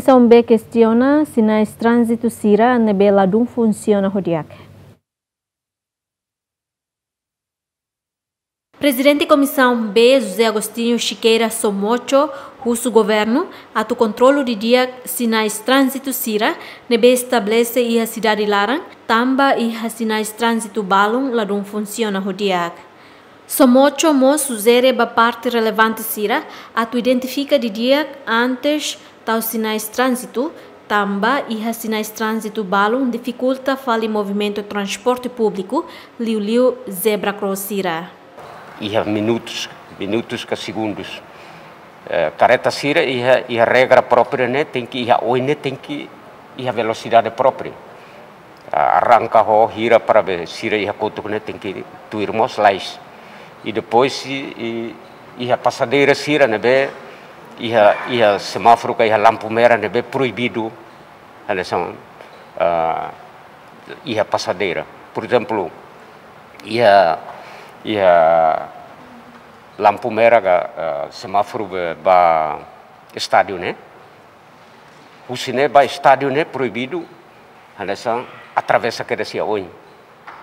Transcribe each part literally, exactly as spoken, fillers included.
Komisaun B kestiona sinais tránzitu sira ne'ebé ladún funsiona ho di'ak. Prezidente Komisaun B, José Agostinho Chiqueira Somocho, husu governu atu kontrolu didi'ak sinais tránzitu sira ne'ebé estabelese iha sidade laran, tanba iha sinais tránzitu balun ladún funsiona ho di'ak. Somocho mós sujere ba parte relevante sira atu identifika didi'ak antes tau sinais tránzitu, tanba iha sinais tránzitu balun difikulta fali movimentu transporte públiku, liuliu zebra cross sira. Iha minutus, minutus ka segundus. Eh, kareta sira iha, iha regra própria ne'e, tenke iha oin ne'e, tenke iha velosidade própria. Ah, arranka ho hira para be sira iha kotuk ne'e tenke tuir mós lais. I depois i, i, iha pasadeira sira ne'ebé iha, iha semáforu ka iha lampu merah ne'ebé proibidu. Hanesan, ah, iha pasadeira. Por ezemplu, iha, iha lampu merah ka, ah, semáforu be ba estádiu ne'e. Husi ne'e ba estádiu ne'e proibidu, hanesan atravesa kedas iha oin.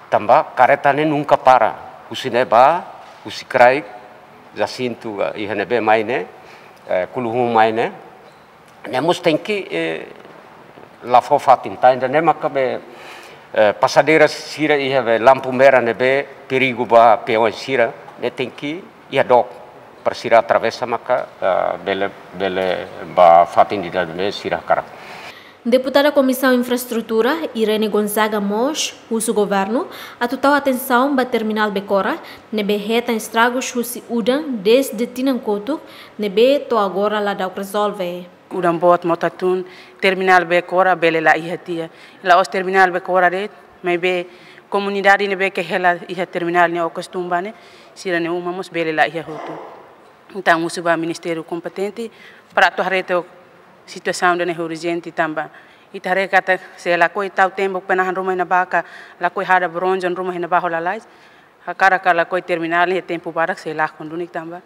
Tanba kareta ne'e nunka para. Husi ne'e ba, husi kraik, Jacinto, eh, iha ne'ebé mai ne'e, eh, Kuluhun mai ne'e. Ne'e mós tenke, eh, la fó fatin, entaun ne'e maka be, eh, pasadeira sira iha be lampu merah ne'ebé perigu ba peões sira, ne'e tenke iha dook para sira atravesa maka, ah, bele, bele ba fatin ida ne'ebé sira hakarak. Deputada Komisaun Infraestrutura, Irene Gonzaga mós husu governu atu tau atensaun ba terminál Becora, ne'ebé hetan estragus husi udan dezde tinan kotuk, ne'ebé to'o agora la da'uk rezolve. Udan boot mota tun, terminál Becora bele la iha tiha. La'ós terminál Becora de'it, maibé komunidade ne'ebé ke hela iha terminál ne'e ou kostumba ne'e, sira-nia uma mós bele la iha hotu. Entaun husu ba ministériu kompetente para atu haree tiha situasaun ida-ne'e urjente tanba ita haree katak se lakohi tau tembok penahan ruma iha ne'ebá ka lakohi hada bronjon ruma iha ne'ebá ho lalais, hakarak ka lakohi terminál ne'e tempu badak sei lakon duni tanba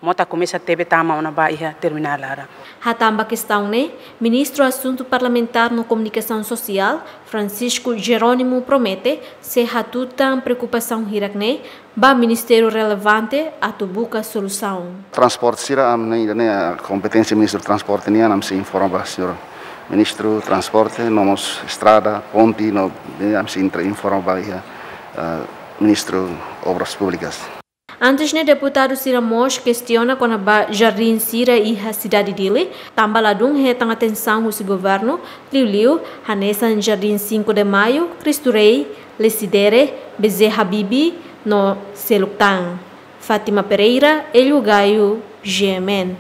mota komesa tebe tama ona ba iha terminál laran. Hatán ba kestaun ne'e, Ministru Asuntu Parlamentár no Komunikasaun Sosiál, Francisco Jerónimo, promete sei hatutan preokupasaun hirak-ne'e ba ministériu relevante atu buka solusaun. Transporte sira, ami-nia, ne'e, kompeténsia Ministru Transporte nian, ami sei informa ba señór Ministru Transporte, no mós estrada, ponte, no, ne'e, ami sei entra informa ba iha, eh, Ministru Obras Públikas. Antes ne'e, deputadu sira mós kestiona kona-ba jardín sira iha sidade Dili, tanba ladún hetan atensaun husi governu, liuliu hanesan Jardín Cinco de Maio, Cristo Rei, Lecidere, B J Habibie, no seluk tan. Fátima Pereira, Hélio Gaio, G M N.